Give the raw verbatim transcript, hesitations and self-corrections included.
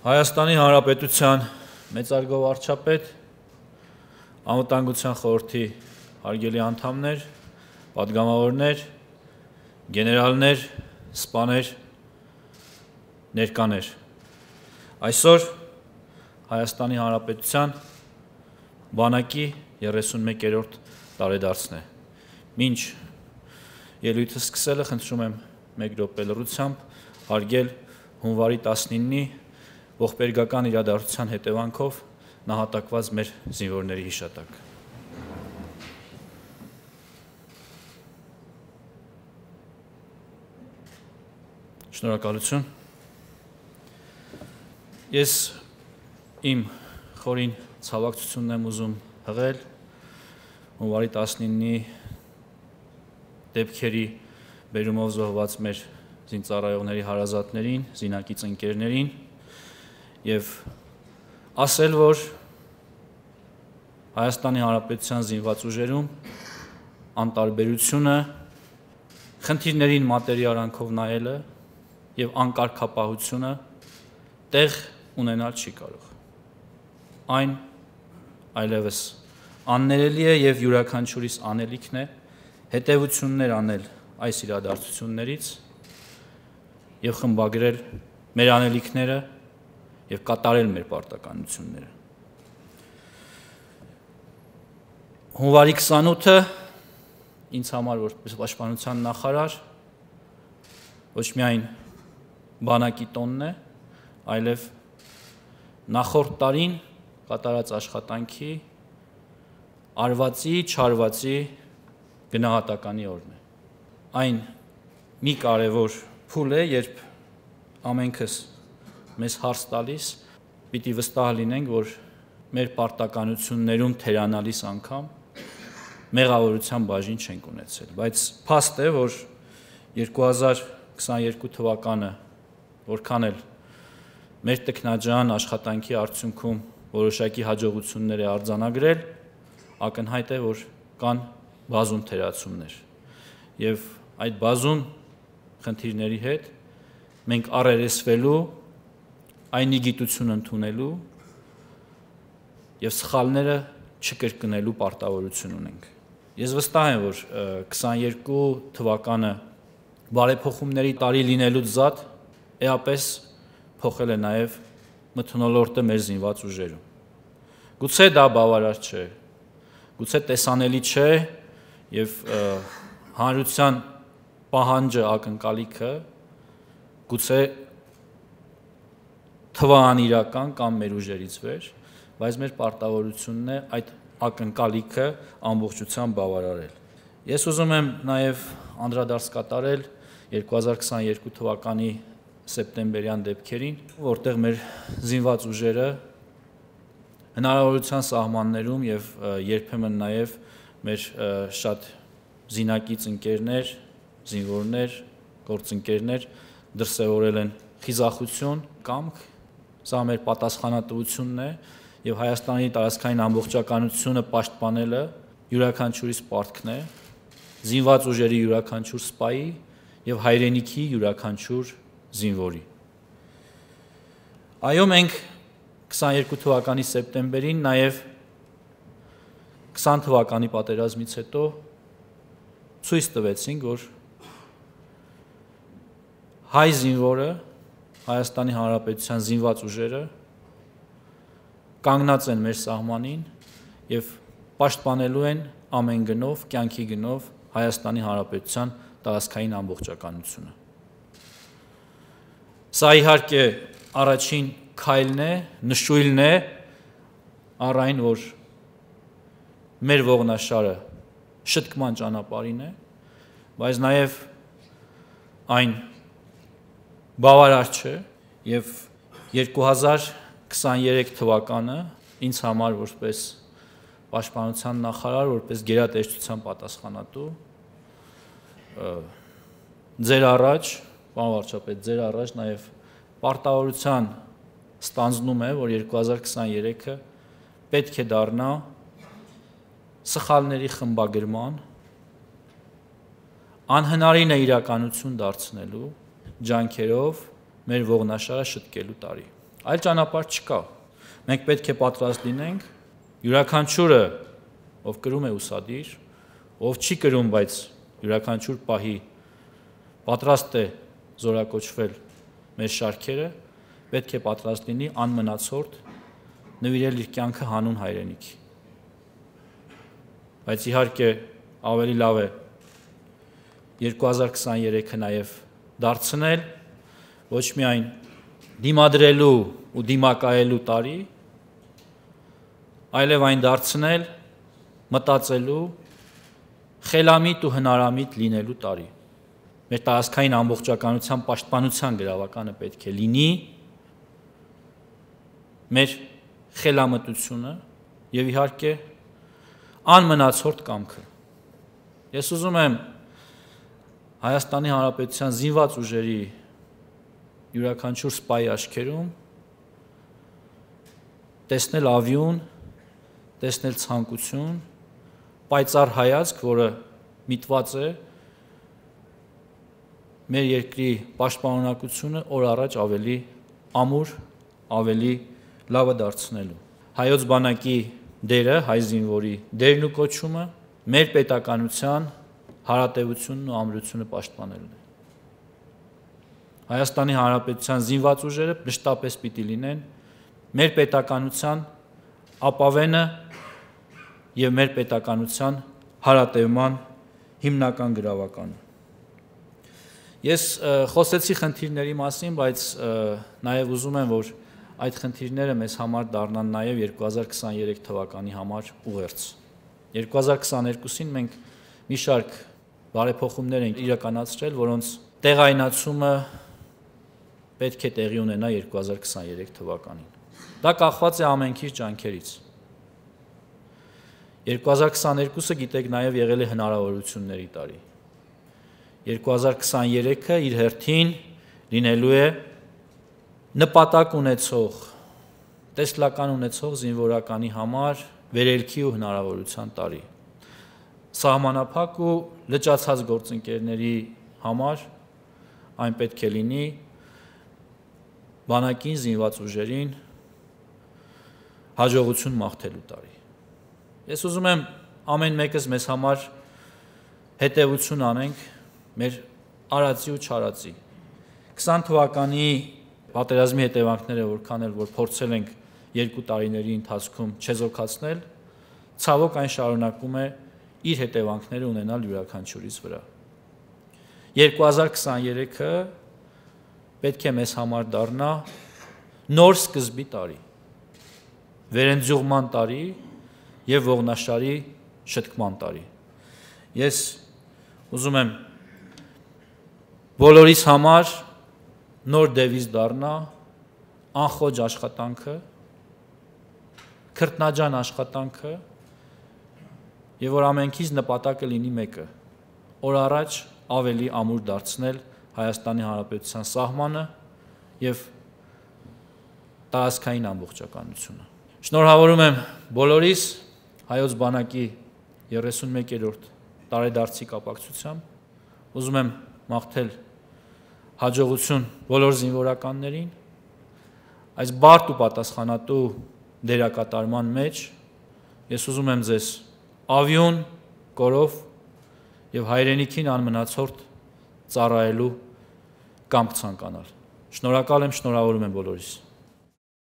Հայաստանի Հանրապետության մեծարգո վարչապետ, Անվտանգության խորհրդի հարգելի անդամներ, պատգամավորներ, գեներալներ, սպաներ, ներկաներ։ Այսօր Հայաստանի Հանրապետության բանակի երեսունմեկերորդ տարեդարձն է։ Մինչ ելույթը սկսելը խնդրում եմ մեկ րոպե լռությամբ հարգել հունվարի տասնինի ողբերգական իրադարձության հետևանքով նահատակված մեր զինվորների հիշատակ։ Շնորհակալություն։ Ես իմ խորին ցավակցությունն եմ ուզում հղել հունվարի տասնինի դեպքերի բերումով զոհված մեր զինծառայողների հարազատներին, զինակից ընկերներին եւ ասել, որ Հայաստանի Հանրապետության զինված ուժերում անտարբերությունը, խնդիրներին մատերի արանքով նայելը եւ անկարգապահությունը տեղ ունենալ չի կարող։ Այն այլևս աններելի է եւ յուրաքանչյուրիս անելիքն է հետեւություններ անել այս իրադարձություններից եւ խմբագրել մեր անելիքները եւ կատարել մեր պարտականությունները։ Հունվարի քսանութը ինձ համար որպես պաշտպանության նախարար ոչ միայն բանակի տոնն է, այլև նախորդ տարին կատարած աշխատանքի արվածի, չարվածի գնահատականի օրն է։ Այն մի կարևոր փուլ է, երբ ամենքս մեզ հարց տալիս, պիտի վստահ լինենք, որ մեր պարտականություններում թերանալիս անգամ մեղավորության բաժին չենք ունեցել, բայց փաստ է, որ երկու հազար քսաներկու թվականը որքան էլ մեր տքնաջան աշխատանքի արդյունքում որոշակի հաջողություններ է արձանագրել, ակնհայտ է, որ կան բազում թերացումներ եւ այդ բազում խնդիրների հետ մենք առերեսվելու, այնի գիտություն ընդունելու եւ սխալները չկրկնելու պարտավորություն ունենք։ Ես վստահ եմ, որ քսաներկու թվականը բարեփոխումների տարի լինելուց զատ էապես փոխել է նաեւ մթնոլորտը մեր զինված ուժերում։ Գուցե դա բավարար չէ, գուցե տեսանելի չէ եւ հանրության պահանջը, ակնկալիքը գուցե թվաանիրական կամ մեր ուժերից վեր, բայց մեր պարտավորությունն է այդ ակնկալիքը ամբողջությամբ բավարարել։ Ես ուզում եմ նաև անդրադարձ կատարել երկու հազար քսաներկու թվականի սեպտեմբերյան դեպքերին, որտեղ մեր զինված ուժերը հնարավորության սահմաններում եւ երբեմն նաև մեր շատ զինակից ընկերներ, զինվորներ, գործընկերներ դրսևորել են խիզախություն, կամք, սա մեր պատասխանատվությունն է եւ Հայաստանի տարածքային ամբողջականությունը պաշտպանելը յուրաքանչյուրիս պարտքն է, զինված ուժերի յուրաքանչյուր սպայի եւ հայրենիքի յուրաքանչյուր զինվորի։ Այո, մենք քսաներկու թվականի սեպտեմբերին նաեւ քսան թվականի պատերազմից հետո ցույց տվեցինք, որ հայ զինվորը, Հայաստանի Հանրապետության զինված ուժերը կանգնած են մեր սահմանին եւ պաշտպանելու են ամեն գնով, կյանքի գնով Հայաստանի Հանրապետության տարածքային ամբողջականությունը։ Սա իհարկե առաջին քայլն է, նշույլն է առ այն, որ մեր ողնաշարը շտկման ճանապարհին է, բայց նաեւ այն բավարար չէ եւ երկու հազար քսաներեք թվականը ինձ համար որպես պաշտպանության նախարար, որպես գերատեսչության պատասխանատու ձեր առաջ, պարոն վարչապետ, ձեր առաջ նաեւ պարտավորության ստանձնում է, որ երկու հազար քսաներեքը պետք է դառնա սխալների խմբագրման, անհնարին է իրականություն դարձնելու ջանքերով մեր ողնաշարը շտկելու տարի։ Այլ ճանապարհ չկա։ Մենք պետք է պատրաստ լինենք յուրաքանչյուրը, ով կրում է ուսադիր, ով չի կրում, բայց յուրաքանչյուր պահի պատրաստ է զորակոչվել մեր շարքերը, պետք է պատրաստ լինի անմնացորդ նվիրել իր կյանքը հանուն հայրենիքի։ Բայց իհարկե ավելի լավ է երկու հազար քսաներեքը նաև դարձնել ոչ միայն դիմադրելու ու դիմակայելու տարի, այլև այն դարձնել մտածելու, խելամիտ ու հնարամիտ լինելու տարի։ Մեր տարածքային ամբողջականության պաշտպանության գրավականը պետք է լինի մեր խելամտությունը եւ իհարկե անմնացորդ կամքը։ Ես ուզում եմ Հայաստանի Հանրապետության զինված ուժերի յուրաքանչյուր սպայի աչքերում տեսնել ավյուն, տեսնել ցանկություն, պայծառ հայացք, որը միտված է մեր երկրի պաշտպանունակությունը օր առաջ ավելի ամուր, ավելի լավը դարձնելու։ Հայոց բանակի դերը, հայ զինվորի դերն ու կոչումը մեր պետականության հարատևությունն ու ամրությունը պաշտպանելն է։ Հայաստանի Հանրապետության զինված ուժերը մշտապես պիտի լինեն մեր պետականության ապավենը եւ մեր պետականության հարատևման հիմնական գրավականը։ Ես խոսեցի խնդիրների մասին, բայց նաեւ ուզում եմ, որ այդ խնդիրները մեզ համար դառնան նաեւ երկու հազար քսաներեք թվականի համար ուղերձ։ երկու հազար քսաներկուսին մենք մի շարք բարեփոխումներ ենք իրականացրել, որոնց տեղայնացումը պետք է տեղի ունենա երկու հազար քսաներեք թվականին։ Դա կախված է ամենքի ջանքերից։ երկու հազար քսաներկուսը գիտեք նաև եղել է հնարավորությունների տարի։ երկու հազար քսաներեքը իր հերթին լինելու է նպատակ ունեցող, տեսլական ունեցող զինվորականի համար վերելքի ու հնարավորության տարի։ Սահմանափակ ու լճացած գործընկերների համար այն պետք է լինի բանակին, զինված ուժերին հաջողություն մաղթելու տարի։ Ես ուզում եմ ամեն մեկս մեզ համար հետևություն անենք մեր արածի ու չարածի։ քսան թվականի պատերազմի հետևանքները որքան էլ որ փորձել ենք երկու տարիների ընթացքում չեզոքացնել, ցավոք այն շարունակում է իր հետևանքները ունենալ յուրաքանչյուրիս վրա։ երկու հազար քսաներեքը պետք է մեզ համար դառնա նոր սկզբի տարի, վերընձյուղման տարի եւ ողնաշարի շտկման տարի։ Ես ուզում եմ բոլորիս համար նոր դևիզ դառնա անխոջ աշխատանքը, քրտնաջան աշխատանքը եւ որ ամենքից նպատակը լինի մեկը՝ օր առաջ ավելի ամուր դարձնել Հայաստանի Հանրապետության սահմանը եւ տարածքային ամբողջականությունը։ Շնորհավորում եմ բոլորիս հայոց բանակի երեսունմեկերորդ տարեդարձի կապակցությամբ։ Ուզում եմ մաղթել հաջողություն բոլոր զինվորականներին, այս բարդ ու պատասխանատու դերակատարման մեջ ես ուզում եմ ձեզ ավյուն, կորով եւ հայրենիքին անմնացորդ ծառայելու կամք ցանկանալ։ Շնորհակալ եմ, շնորհավորում եմ բոլորիս։